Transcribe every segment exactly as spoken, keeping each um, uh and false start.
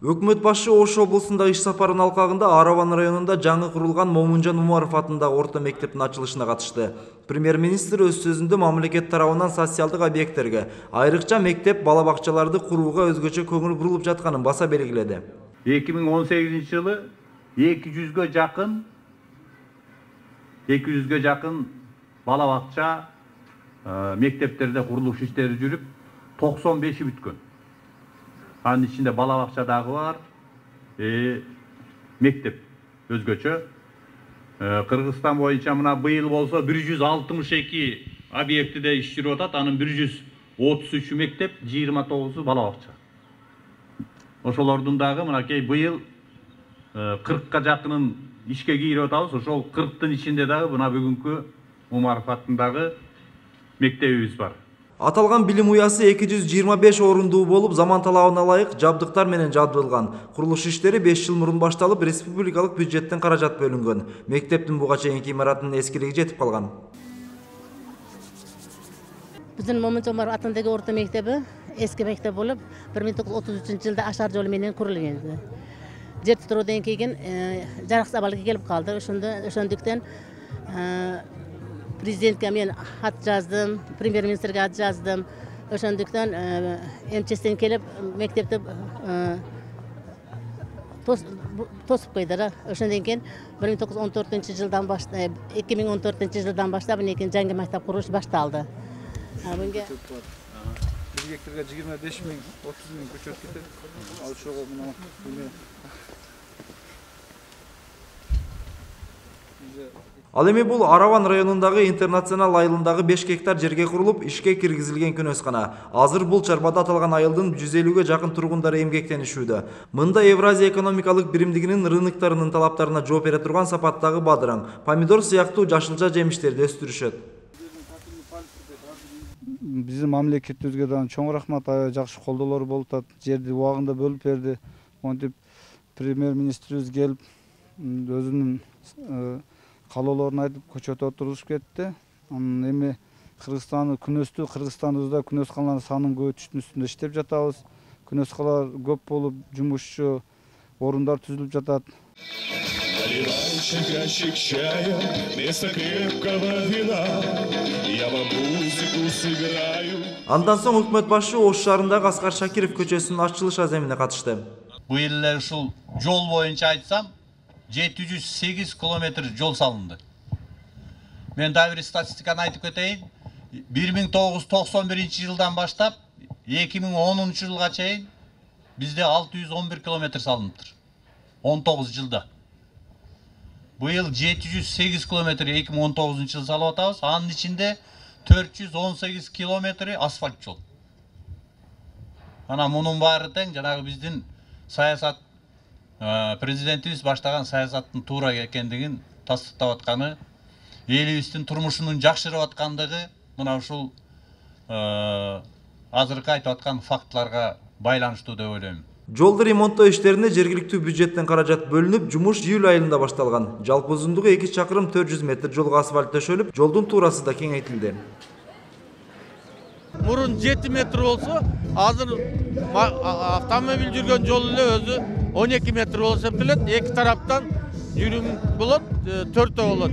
Өкмөт башы Ош облусунда иш сапарынын алкагында Араван районунда жаңы курулган Момунжан Умаров атындагы орто мектептин ачылышына катышты. Премьер-министр өз сөзүндө мамлекет тарабынан социалдык объекттерге, айрыкча мектеп, бала бакчаларды курууга өзгөчө көңүл бурулуп жатканын баса белгиледи. эки миң он сегизинчи жылы эки жүзгө жакын эки жүзгө жакын бала бакча мектептерде курулуш иштери жүрүп, токсон беши бүткөн. Анын ичинде бала бакча дагы бар, э, мектеп өзгөчө. Э, Кыргызстан боюнча мына быйыл болсо бир жүз алтымыш эки объектиде иш жүрүп атат, анын бир жүз отуз үчү мектеп, жыйырма тогузу бала бакча. Ошолордун дагы мынакей быйыл кыркка жакынын ишке кийирип атабыз. Ошол кырктын ичинде дагы мына бүгүнкү Умаров атындагы мектебибиз бар. Аталган билим уясы эки жүз жыйырма беш орундуу болуп, заман талабына ылайык жабдыктар менен жабдылган. Курулуш иштери беш жыл мурун башталып, республикалык бюджеттен каражат бөлүнгөн. Мектептин буга чейинки имаратынын эскилиги жетип калган. Биздин Момунжан Умаров атындагы орто мектеби эски мектеп болуп, бир миң тогуз жүз отуз үчүнчү жылда ашар жолу менен курулган. Жер титирөөдөн кийин жараксыз абалга келип калды. Ошондо ошондуктан президентке мен хат жаздым, премьер-министрге хат жаздым. Ошондуктан МЧСтен келип мектепти тосуп койду. Ошондон кийин бир миң тогуз жүз он төртүнчү жылдан баштап, эки миң он төртүнчү жылдан баштап мынекей жаңы мектеп куруш башталды. Бунга бир гектарга жыйырма беш миң, отуз миң көчөт кетет. Ал ошого мына Ал эми бул Араван районундагы интернационал айылындагы беш гектар жерге курулуп, ишке киргизилген күнөскана. Азыр бул чарбада аталган айылдын жүз элүүгө жакын тургундары эмгектенишүүдө. Мында Евразия экономикалык биримдигинин рыноктарынын талаптарына жооп бере турган сапаттагы бадыраң, помидор сыяктуу жашылча жемиштерди өстүрүшөт. Биздин мамлекетибизге да чоң рахмат, жакшы колдоолор болуп атат. Жерди убагында бөлүп берди. Монтип премьер-министрибиз келип өзүнүн калоолорун айтып көчөт отурушуп кетти. Эми Кыргызстандын күнөстүү Кыргызстандыбызда күнөскалардын санын көбөйтүштүн үстүндө иштеп жатабыз. Күнөскалар көп болуп, жумушчу орундар түзүлүп жатат. Ящик чая, вместо крепкого вина, я вам музыку сыграю. Андан соң өкмөт башы Ош шаарындагы Аскар Шакиров көчөсүнүн ачылыш аземине катышты. Быйыл эле ушул жол боюнча айтсам, жети жүз сегиз километр жол салынды. Мен да бир статистиканы айтып кетейин. бир миң тогуз жүз токсон биринчи жылдан баштап эки миң онунчу жылга чейин бизде алты жүз он бир километр салыныптыр. он тогуз жылда. Быйыл жети жүз сегиз километр эки миң он тогузунчу жылы салып атабыз. Анын ичинде төрт жүз он сегиз километри асфальт жол. Ана мунун баары тең жанагы биздин саясат президентибиз баштаган саясаттын туура экендигин тастыктап атканы, элибиздин турмушунун жакшырып аткандыгы мына ушул азыркы айтып аткан фактларга байланыштуу деп ойлойм. Жолду ремонттоо иштерине жергиликтүү бюджеттен каражат бөлүнүп, жумуш июль айында башталган. Жалпы узундугу эки чакырым төрт жүз метр жолго асфальт төшөлүп, жолдун туурасы да кеңейтилди. Мурун жети метр болсо, азыр автомобиль жүргөн жол эле өзү он эки метр болуп эсептелет. Эки тараптан жүрүм болот, төртөө болот.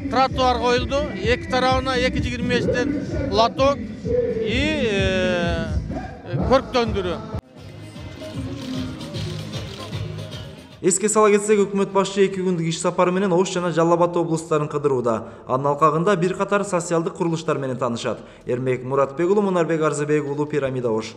Тротуар коюлду, эки тарабына эки жүз жыйырма бештен лоток и көрктөндүрүү. Эске сала кетсек, өкмөт башы эки күндүк иш сапары менен Ош жана Жалал Абад облустарын кыдырууда. Анын алкагында бир катар социалдык курулуштар менен таанышат. Эрмек Муратбек уулу, Мунарбек Арзыбек уулу, Пирамида, Ош.